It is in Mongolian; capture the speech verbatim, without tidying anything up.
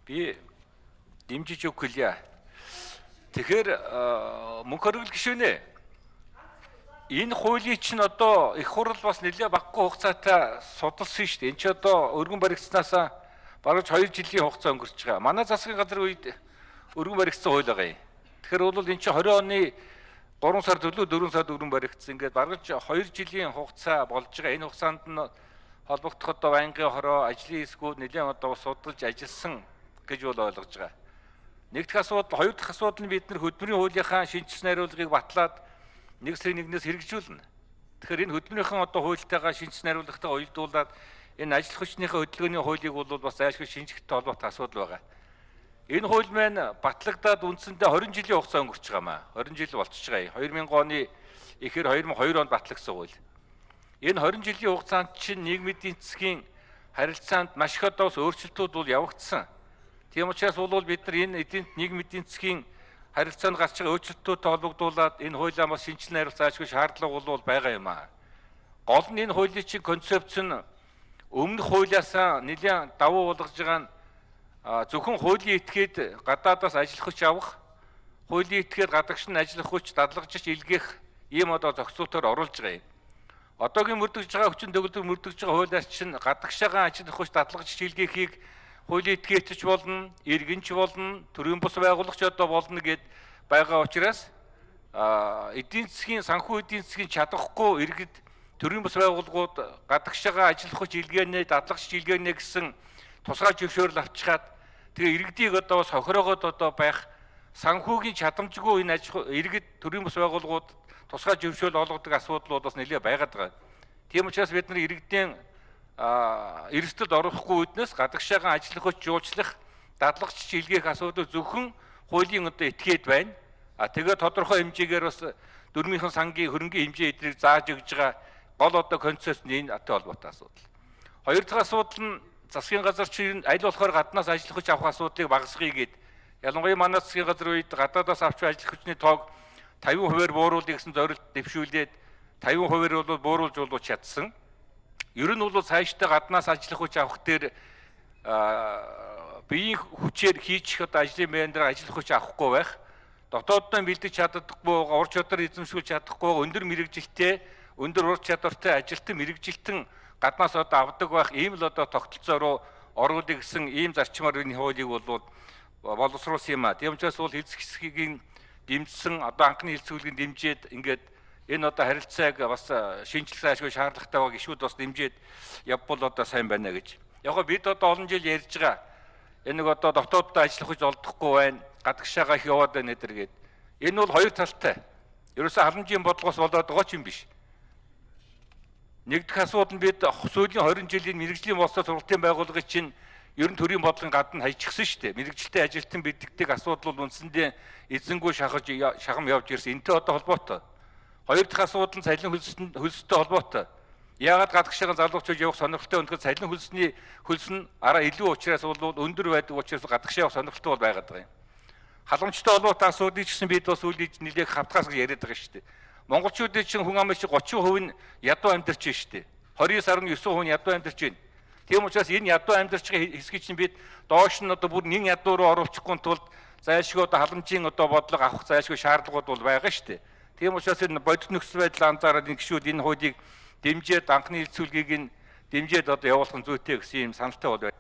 Би дэмжиж өгөх гэлээ. Тэгэхээр мөнх хоригдол гишүүнэ. Энэ хуулийн чинь одоо их хурл бас нэлээд багагүй хугацаатай судалсан шүү дээ. Энд чи одоо өргөн баригдсанаас бараг хоёр жилийн хугацаа өнгөрч байгаа. Манай засгийн газрын үед өргөн баригдсан хууль байгаа юм. Тэгэхээр бол энэ чи двадцать оны гурван сар төлөө дөрвөн сард өргөн баригдсан. Ингээд бараг хоёр жилийн хугацаа болж байгаа. Энэ хугацаанд нь холбогдох одоо байнгын хороо ажлын хэсгүүд нэлээд одоо судалж ажилласан гэж бол ойлгож байгаа. Нэг дахь асуудал, хоёр дахь асуудал нь бид нар хөдөлмөрийн хуулийнхаа шинжилсэн хариулгыг батлаад нэг сарын нэгнээс хэрэгжүүлнэ. Тэгэхээр энэ хөдөлмөрийнхөө одоо хуультайгаа шинжилсэн хариулгатайгаа уялдуулаад энэ ажил хүчнийхээ хөдөлгөөний хуулийг бол бас зайлшгүй шинжихтэй холбоотой асуудал байгаа. Энэ хууль маань батлагдаад үндсэндээ двадцать жилийн хугацаа өнгөрч байгаа маа. двадцать жил болчихж байгаа. две тысячи оны ихэр two thousand two онд батлагдсан хууль. Энэ двадцать жилийн хугацаанд чинь нийгмийн эдийн засгийн харилцаанд маш их одоо өөрчлөлтүүд бол явагдсан. Тийм учраас бол бид нар энэ эдийн нийгмийн эдийн засгийн харилцаанд гарч байгаа өөрчлөлтөдтэй холбогдуулаад энэ хуулиа бас шинжилэн хариулах заашгүй шаардлага бол байгаа юм аа. Гол нь энэ хуулийн чинь концепц нь өмнөх хуулиас нэлээд давуу болгож байгаа нь зөвхөн хуулийн этгээд гадаадаас ажил хүч авах, хуулийн этгээд гадагш нь ажил хүч дадлагжиж илгээх ийм одоо зохицуултаар оруулж байгаа юм. Одоогийн мөрдөгж байгаа хүчин төгөлдөр мөрдөгж байгаа хуулиас чинь гадагшаагаа ажил хүч дадлагжиж илгээхийг хуулийн этгээдч болно, иргэнч болно, төрийн бус байгуулагч одоо болно гэд байгаа учраас эдийн засгийн санхүү эдийн засгийн чадахгүй иргэд төрийн бус байгууллагууд гадагшаагаа ажил хүч илгээнэ, дадлагжиж илгээнэ гэсэн тусгай зөвшөөрөл авчихад тэгээ иргэдийг одоо бас хохироогоод одоо байх санхүүгийн чадамжгүй энэ иргэд төрийн бус байгууллагууд тусгай зөвшөөрөл олгодог асуудал бас нэлээд байгаад байгаа. Тийм учраас бид нар иргэдийн эрсдэлд орохгүй үднэс гадагшаагаа ажил хүч жуулчлах, дадлагжиж илгээх асуудал зөвхөн хуулийн одоо этгээд байна. А тэгээ тодорхой хэмжээгээр бас дөрмийнхэн сангийн хөрөнгөний хэмжээ эдрийг зааж өгж байгаа гол одоо концепт нь энэ атай холбоотой асуудал. Хоёр дахь асуудал нь засгийн газар чинь аль болохоор гаднаас ажил хүч авах асуудлыг багасгая гэд ялангуяа манай засгийн газрын үед гадаадаас авч ажил хүчний тоог fifty percent бууруулъя гэсэн зорилт дэвшүүлээд fifty percent бол бууруулж болов чадсан. Ер нь бол цаашдаа гаднаас ажил хүч авах дээр биеийн хүчээр хийчих одоо ажлын байраар ажил хүч авахгүй байх, дотооддоо бэлдэж чаддаггүй, ур чадвар эзэмшүүлж чадахгүй, өндөр мэрэгжилтэй, өндөр ур чадвартай ажилтан мэрэгжилтэн гаднаас одоо авдаг байх ийм л одоо тогтолцоо руу оруулах гэсэн ийм зарчмаар энэ хуулийг бол боловсруулсан юм а. Тийм учраас бол хэлцэх хэсгийг дэмжсэн одоо анхны хэлцүүлгийг дэмжиж ингээд энэ одоо харилцааг бас шинжилсэн ашгүй шаардлагатай байгаа гишүүд бас дэмжиж явбал одоо сайн байна гэж. Яг нь бид одоо олон жил ярьж байгаа. Энэ нэг одоо дотооддоо ажиллах гэж олдохгүй байна. Гадагшаагаа их яваад байна гэдэр гээд. Энэ бол хоёр талтай. Ерөөсөө халамжийн бодлогоос болоод байгаа ч юм биш. Нэг дахь асуудал нь бид сүүлийн twenty жилийн мэрэгжлийн болцоо сургалтын байгууллагын чинь ер нь төрийн бодлогын гадна хайчихсан шүү дээ. Мэрэгжилтэй ажилтан бэлддэг асуудал бол үндсэндээ эзэнгүй шахаж шахам явж ирсэн. Энтэй одоо холбоотой. Хоёр дахь асуудал нь цалин хөлсөстэй холбоотой. Яагаад гадагшаагаа залуучууд явах сонирхолтой өнөхөд цалин хөлсний хөлс нь араа илүү учраас бол өндөр байдаг учраас гадагшаа явах сонирхолтой бол байгаад байгаа юм. Халамжтай холбоотой асуудлыг ч гэсэн бид бас үйл нэлээх хавтгаас гэж яриад байгаа шүү дээ. Монголчуудын чинь хүн амын шиг thirty percent нь ядуу амьдарч байна шүү дээ. twenty-nine percent ядуу амьдарч байна. Тийм учраас энэ ядуу амьдарч байгаа хэсгийг чинь бид доош нь одоо бүр нэг ядуу руу оруулахгүй тулд зайлшгүй одоо халамжийн одоо бодлого авах зайлшгүй шаардлагууд бол байгаа шүү дээ. Тийм учраас энэ бодит нөхцөл байдал анзаараад энэ гишүүд энэ хуулийг дэмжиж анхны хэлцүүлгийг нь дэмжиж одоо явуулах нь зүйтэй гэсэн юм саналтай бол байна.